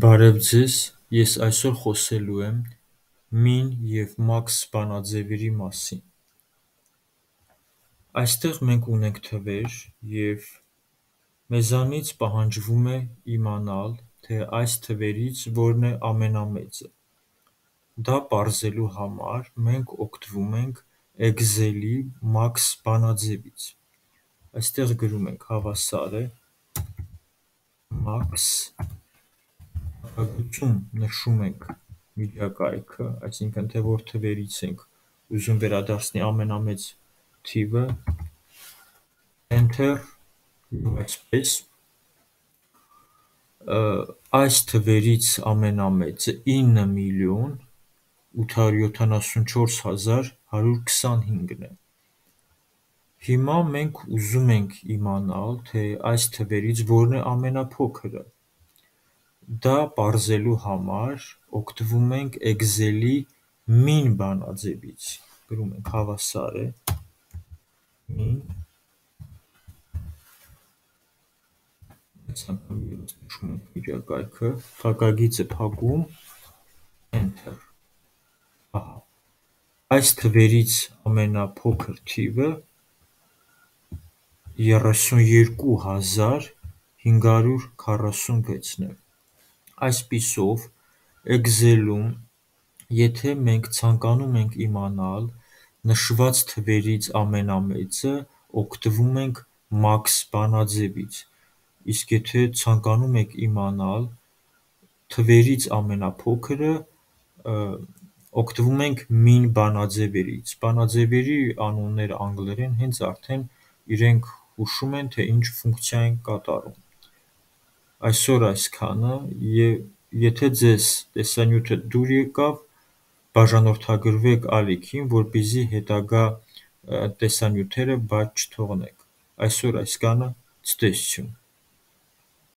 Բարև ձեզ, ես այսօր խոսելու եմ մին և մաքս բանաձևերի մասին։ Այստեղ մենք ունենք թվեր և մեզանից պահանջվում է իմանալ, թե այս թվերից որն է ամենամեծը։ Դա պարզելու համար մենք օգտվում ենք Excel-ի մաքս բանաձևից։ Այստեղ գրում ենք հավասար է մաքս, նշում ենք միջակայքը, այսինքն թե որ թվերից ենք ուզում վերադարձնի ամենամեծ թիվը, Enter, այսպես, այս թվերից ամենամեծը 9,874,125-ն է։ Հիմա մենք ուզում ենք իմանալ, թե այս թվերից որն է ամենափոքրը։ Դա պարզելու համար օգտվում ենք Excel-ի մին բանաձևից։ Գրում ենք հավասար է մին, նշում ենք միջակայքը, փակագիծը փակում, Enter։ Այս թվերից ամենափոքր թիվը 32,546-ն է։ Այսպիսով, Excel-ում, եթե մենք ցանկանում ենք իմանալ նշված թվերից ամենամեծը, օգտվում ենք մաքս բանաձևից, իսկ եթե ցանկանում եք իմանալ թվերից ամենափոքրը, օգտվում ենք մին բանաձևերից։ Բանաձևերի անունները անգլերեն հենց արդեն իրենք հուշում են, թե ինչ ֆունկցիա են կատարում։ Այսօր այսքանը, եթե ձեզ տեսանյութը դուր եկավ, բաժանորդագրվեք ալիքին, որպեսզի հետագա տեսանյութերը բաց չթողնեք։ Այսօր այսքանը, ցտեսություն։